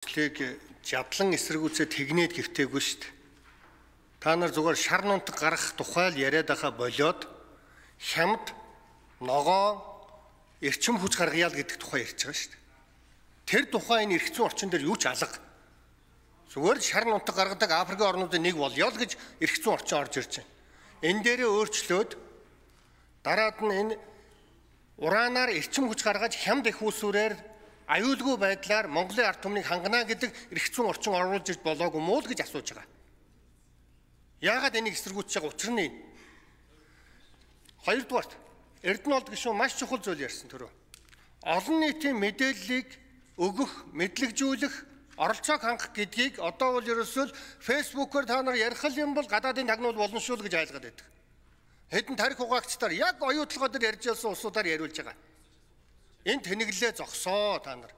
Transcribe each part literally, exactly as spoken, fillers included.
Лэг жадлан эсэргүүцээ тэгнээд гэвтэйгүй шүү дээ. Та нар зүгээр шар нунтаг гарах тухай л яриад байхаа болоод хямд ногоо эрчим хүч гаргая л гэдэг тухай ярьж байгаа шүү дээ. Тэр тухай энэ эрх зүйн орчин дээр юу ч алга. Зүгээр шар нунтаг гаргадаг Африкийн орнуудын нэг болёо л гэж эрх зүйн орчин орж ирж байна. Энэ дээрээ өөрчлөөд дараад нь энэ ураанаар эрчим хүч гаргаж хямд их усүрээр аюулгүй байдлаар Монголын ард түмнийг хангана гэдэг эрх зүйн орчин оруулж ирж болоогүй муу л гэж асууж байгаа. Яагаад энийг эсэргүүцэж байгаа учир нь энэ? Хоёрдугаарт Эрдэнэт гишүүн маш чухал зүйл ярьсан түрүү. Олон нийтийн мэдээллийг өгөх, мэдлэгжүүлэх, оролцоог хангах гэдгийг одоо бол ерөөсөө фэйсбүүкээр та нар ярих юм бол гадаадын тагнуул болно шүү л гэж айлгаад байдаг. Хэдэн тарих хугаагчдаар яг оюутлогоо дээр ярьж ялсан улсуудаар яриулж байгаа. Энэ тэнэглэлээ зогсоо та нар.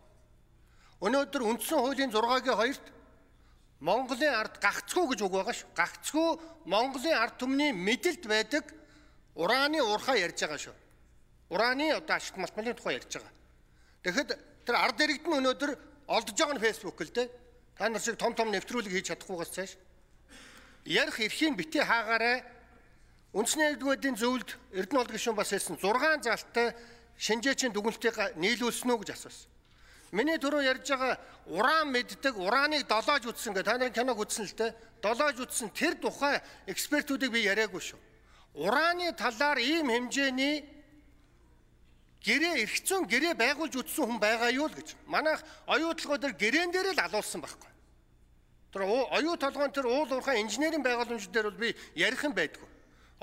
Өнөөдөр үндсэн хуулийн зургагийн хоёрт Монголын ард гагцгүй гэж үг байгаа шүү. Гагцгүй Монголын ард түмний мэдэлд байдаг ураны уурхаа ярьж байгаа шүү. Ураны одоо ашигт малтмалын тухай ярьж байгаа. Тэгэхэд тэр ард иргэд нь өнөөдөр олдож байгаа нь фэйсбүүк л дээ. Та нар шиг том том нэвтрүүлэг хийж чадахгүйгээс цааш. Ярих эрхийг битгий хаагаарай. Үндэсний нэгдүгээр зөвлөлд Эрдэнэт гишүүн бас хэлсэн зургаан залттай шинжээчийн дүгнэлтийг нийлүүлсэн үү гэж асуусан. Миний түрүү ярьж байгаа уран мэддэг, ураныг долоож үтсэн гэх та нарын киног үзсэн л дээ. Долоож үтсэн тэр тухай экспертүүдийг би яриаггүй шүү. Ураны талаар ийм хэмжээний гэрээ эрх зүйн гэрээ байгуулж үтсэн хүн байгаа юу л гэж. Манайх оюутлогоо дээр гэрээн дээр л алуулсан байхгүй. Тэр оюу толгойн тэр уул уурхай инженерийн байгууламж дээр бол би ярих юм байдгүй.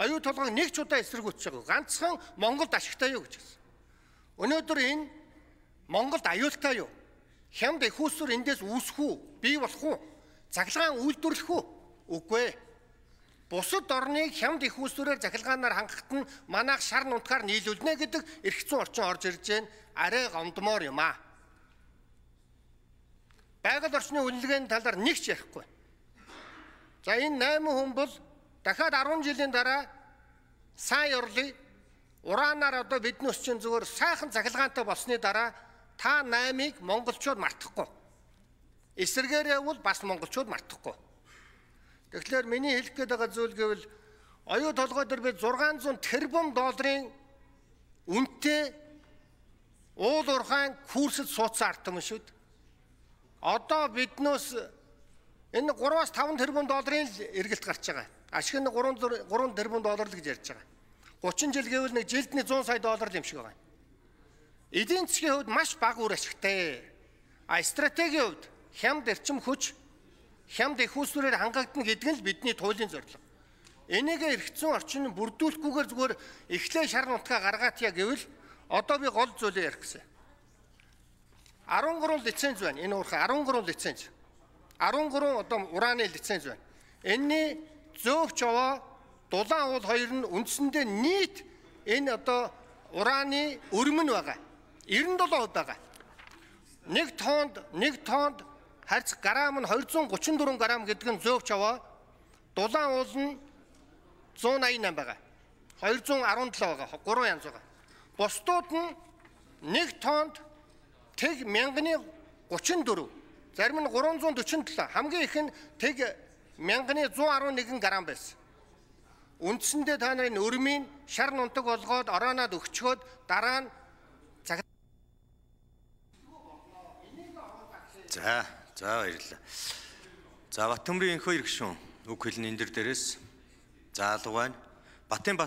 Оюу толгойг нэг ч удаа эсэргүүцэж байгаа. Ганцхан Монголд ашигтай юу гэж хэлсэн. Өнөөдөр энэ Монголд аюултай юу? Хямд их усүр эндээс үүсэх үү? Бий болох уу? Захилгаан үйлдвэрлэх үү? Үгүй ээ. Бусад орныг хямд их усүрээр захилгаанаар хангахад нь манайх шар нунтгаар нийлүүлнэ гэдэг эрх зүйн орчин орж ирж байна. Арай гомдмоор юм аа. Байгаль орчны үнэлгээний талаар нэг ч ярихгүй. За энэ найман хүн бол дахиад арван жилийн дараа сайн орлыг ураанаар одоо бидний өсчин зүгээр сайхан захилгаантай болсны дараа та наймыг монголчууд мартахгүй. Эсэргээрээ бол бас монголчууд мартахгүй. Тэгэхээр миний хэлэх гээд байгаа зүйл гэвэл оюу толгой дээр би зургаан зуун тэрбум долларын үнэтэй уул уурхайн курсэд суудсан ард түмэн шүү дээ. Одоо биднээс энэ гураваас таван тэрбум долларын эргэлт гарч байгаа. Ашиг нь гурван тэрбум доллар л гэж ярьж байгаа. гучин жил гэвэл нэг жилдний зуун сая доллар юм шиг байгаа. Эдийн засгийн хувьд маш бага үр ашигтай. А стратегийн хувьд хямд эрчим хүч, хямд их усүрээр хангагдана гэдэг нь л бидний туйлын зорилго. Энийг эрх зүйн орчин бүрдүүлэхгүйгээр зүгээр эхлээ шар нутгаа гаргаатъя гэвэл одоо би гол зүйлээ ярих гэсэн. арван гурван лиценз байна. Энэ уурхай арван гурван лиценз. арван гурван одоо ураны лиценз байна. Энэний зөөвч аваа дулаан уул хоёр нь үндсэндээ нийт энэ одоо ураны өрмөн байгаа. девяносто долоо хувь байгаа. Нэг тоннд нэг тоннд харьцах грамм нь двести тридцать четыре грамм гэдэг нь зөөвч аваа. Дулаан уул нь one eighty-eight байгаа. two seventeen байгаа. гурван янз байгаа. Бусдууд нь нэг тоннд тэг мянганы тридцать четыре, зарим нь тhree forty-seven, хамгийн их нь тэг мянганы one eleven грамм байсан. Үндсэндээ та нарын өрмийн шар нунтаг болгоод орооноод өгчгөөд дараа нь цаг. За, за баярлалаа. За Баттөмрийн энхөө ирэх шүүн үг хэлний энэ дээрээс заалга байна. Батын